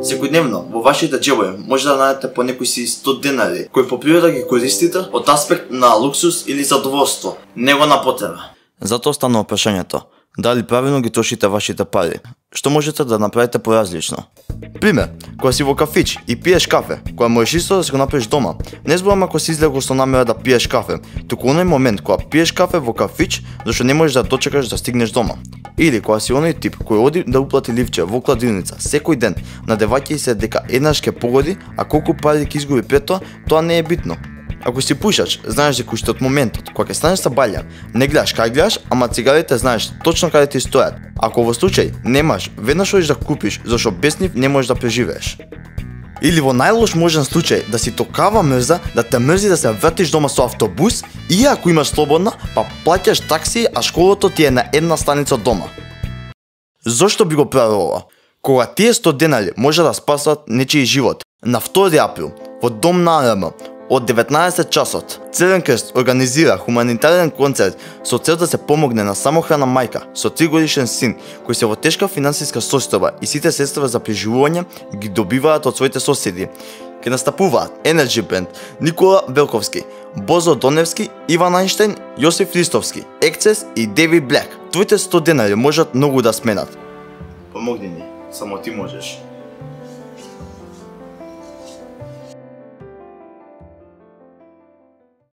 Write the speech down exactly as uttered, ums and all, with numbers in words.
Секојдневно во вашите џебови може да најдете по некои си сто денари, кои по природа ги користите од аспект на луксус или задоволство, него на потреба. Затоа станува прашањето, дали правилно ги трошите вашите пари? Што можете да направите поразлично? Пример, кога си во кафич и пиеш кафе, кога можеш исто да си го направиш дома, не зборам ако си излегол со намера да пиеш кафе, туку оној момент кога пиеш кафе во кафич, зашто не можеш да дочекаш да стигнеш дома. Или кога си оној тип кој оди да уплати ливче во кладилница секој ден, надеваќај се дека еднаш ќе погоди, а колку пари ќе изгуби пред тоа, тоа не е битно. Ако си пушач, знаеш дека уште од моментот кога ќе станеш са балја, не гледаш кај гледаш, ама цигарите знаеш точно каде ти стојат. Ако во случај немаш, веднаш одиш да купиш, зашто без нив не можеш да преживееш. Или во најлош можен случај да си токава мрза да те мрзи да се вратиш дома со автобус и ако имаш слободна, па плаќаш такси, а школото ти е на една станица од дома. Зошто би го правил ова? Кога тие сто денари може да спасат нечиј живот. На втори април во Дом на АРМ од деветнаесет часот, Црвен крст организира хуманитарен концерт со цел да се помогне на самохрана мајка со тригодишен син кој се во тешка финансиска состојба и сите средства за преживување ги добиваат од своите соседи. Ке настапуваат Energy Band, Никола Велковски, Бозо Доневски, Иван Ајнштејн, Јосиф Ристовски, Ексцес и Деви Блек. Твоите сто денари можат многу да сменат. Помогни ни, само ти можеш.